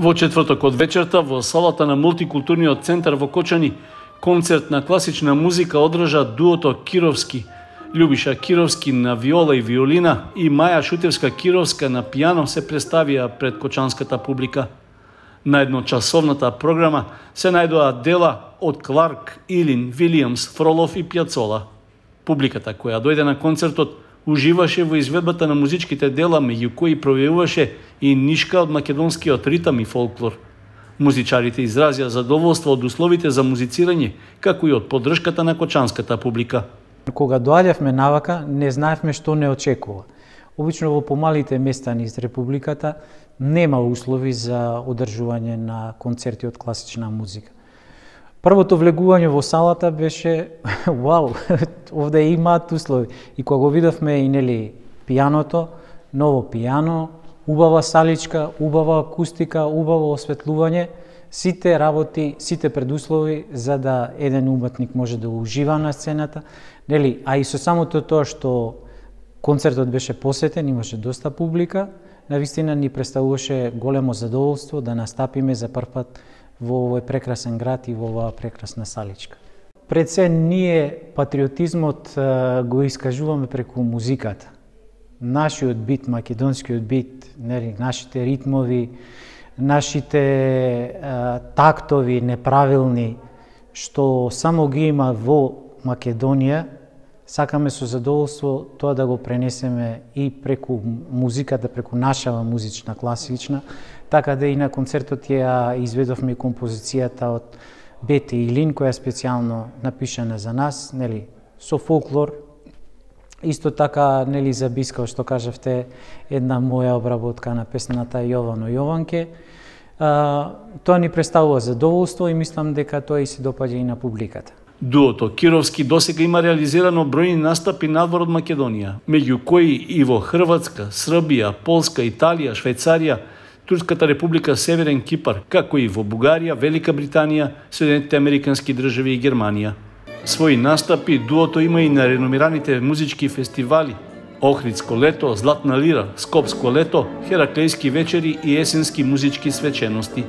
Во четврток од вечерта во салата на мултикултурниот центар во Кочани концерт на класична музика одржа дуото Кировски. Љубиша Кировски на виола и виолина и Маја Шутевска-Кировска на пијано се представија пред кочанската публика. На едночасовната програма се најдоа дела од Кларк, Илин, Вилијамс, Фролов и Пјацола. Публиката која дојде на концертот уживаше во изведбата на музичките дела, меѓу кои пројавуваше и нишка од македонскиот ритам и фолклор. Музичарите изразија задоволство од условите за музицирање, како и од поддршката на кочанската публика. Кога доаѓавме навака, не знаевме што не очекува. Обично во помалите места низ републиката нема услови за одржување на концерти од класична музика. Првото влегување во салата беше вау, овде имаат услови. И кога го видовме и нели пијаното, ново пијано, убава саличка, убава акустика, убаво осветлување, сите работи, сите предуслови за да еден уметник може да ужива на сцената, нели, а и со самото тоа што концертот беше посетен, имаше доста публика, навистина ни представуваше големо задоволство да настапиме за прв пат во овој прекрасен град и во оваа прекрасна саличка. Пред се ние патриотизмот го искажуваме преку музиката. Нашиот бит, македонскиот бит, нели, нашите ритмови, нашите тактови неправилни, што само ги има во Македонија, сакаме со задоволство тоа да го пренесеме и преку музиката, преку нашава музична класична, така да и на концертот ја изведовме композицијата од Бете Илин, која е специјално напишана за нас, нели, со фолклор. Исто така, нели, за Биска, што кажавте, една моја обработка на песната Јовано Јованке. Тоа ни представува задоволство и мислам дека тоа и се допаѓа и на публиката. Дуото Кировски досега има реализирано бројни настапи надвор од Македонија, меѓу кои и во Хрватска, Србија, Полска, Италија, Швајцарија, Турската република, Северен Кипар, како и во Бугарија, Велика Британија, Соединетите Американски држави и Германија. Своји настапи дуото има и на реномираните музички фестивали Охридско лето, Златна лира, Скопско лето, Хераклејски вечери и есенски музички свечености.